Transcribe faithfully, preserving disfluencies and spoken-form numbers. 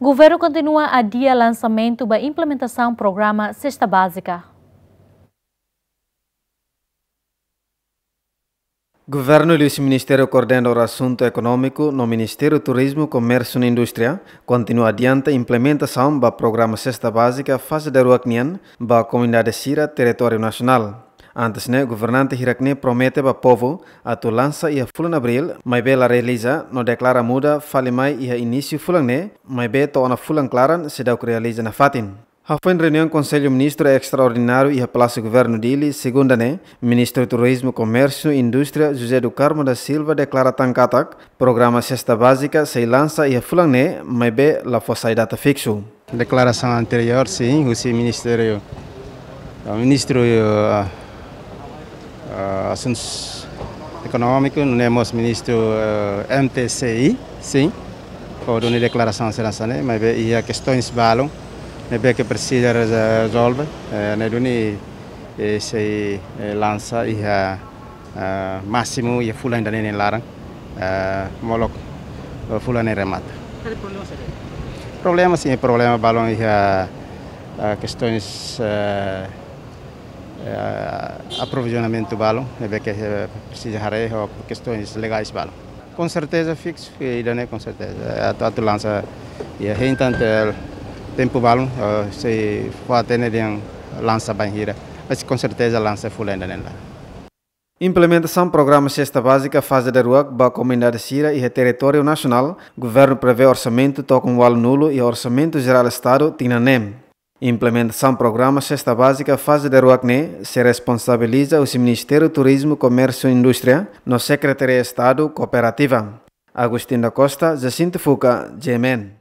Governu kontinua adia lansamentu ba implementasaun programa Sesta Bázika. Governu liuhusi Ministériu Koordenadór Asuntu Ekonómiku no Ministériu Turizmu, Komérsiu no Indústria kontinua adianta implementasaun ba programa Sesta Bázika faze daruak nian ba komunidade sira territóriu nasionál. Antes ne'e, governante hirak-ne'e promete ba povu atu lansa iha fulan Abríl, maibé la realiza, no deklara muda fali mai iha inísiu fulan ne'e, maibé to'o ona fulan klaran seidauk realiza nafatin. Hafoin reuniaun Konsellu Ministru Estraordináriu iha Palásiu Governu Dili, segunda ne'e, Ministru Turizmu, Komérsiu no Indústria, José do Carmo da Silva, deklara tan katak programa Sesta Bázika sei lansa iha fulan ne'e, maibé la fó sai data fiksu. Deklarasaun anteriór, sin, husi Ministériu, eh, Ministru, eh, eh, Asuntus Ekonómiku, nune'e mós Ministru, eh, M T C I, sin, fó duni deklarasaun hanesan ne'e, maibé iha kestoins balun ne'ebé ke presiza reze-, rezolve, eh, ne'e duni, eh, sei, eh, lansa iha, eh, másimu iha fulan ida-ne'e nia laran, eh, molok, eh, fulan ne'e remata. Problema, sin, problema balun iha, eh, kestoins, eh, eh, aprovizionamentu balun, ne'ebé ke, eh, presiza haree ho kestoins legais balun. Konserteza fiksu, eh, ida-ne'e konserteza. Eh, atu, atu lansa, eh, hein tan tempu balun, eh, sei fó hatene dehan lansa bainhira. Mas konserteza lansa fulan ida-ne'e laran. Implementasaun programa Sesta Bázika faze daruak ba komunidade sira iha territóriu nasionál, governu prevee orsamentu tokon ualunulu iha Orsamentu Jerál Estadu tinan ne'e. Implementasaun programa Sesta Bázika faze daruak ne'e sei responsabiliza husi Ministériu Turizmu, Komérsiu no Indústria no Sekretaria Estadu Kooperativa. Agostinho da Costa, Jacinto Fuca, G M N.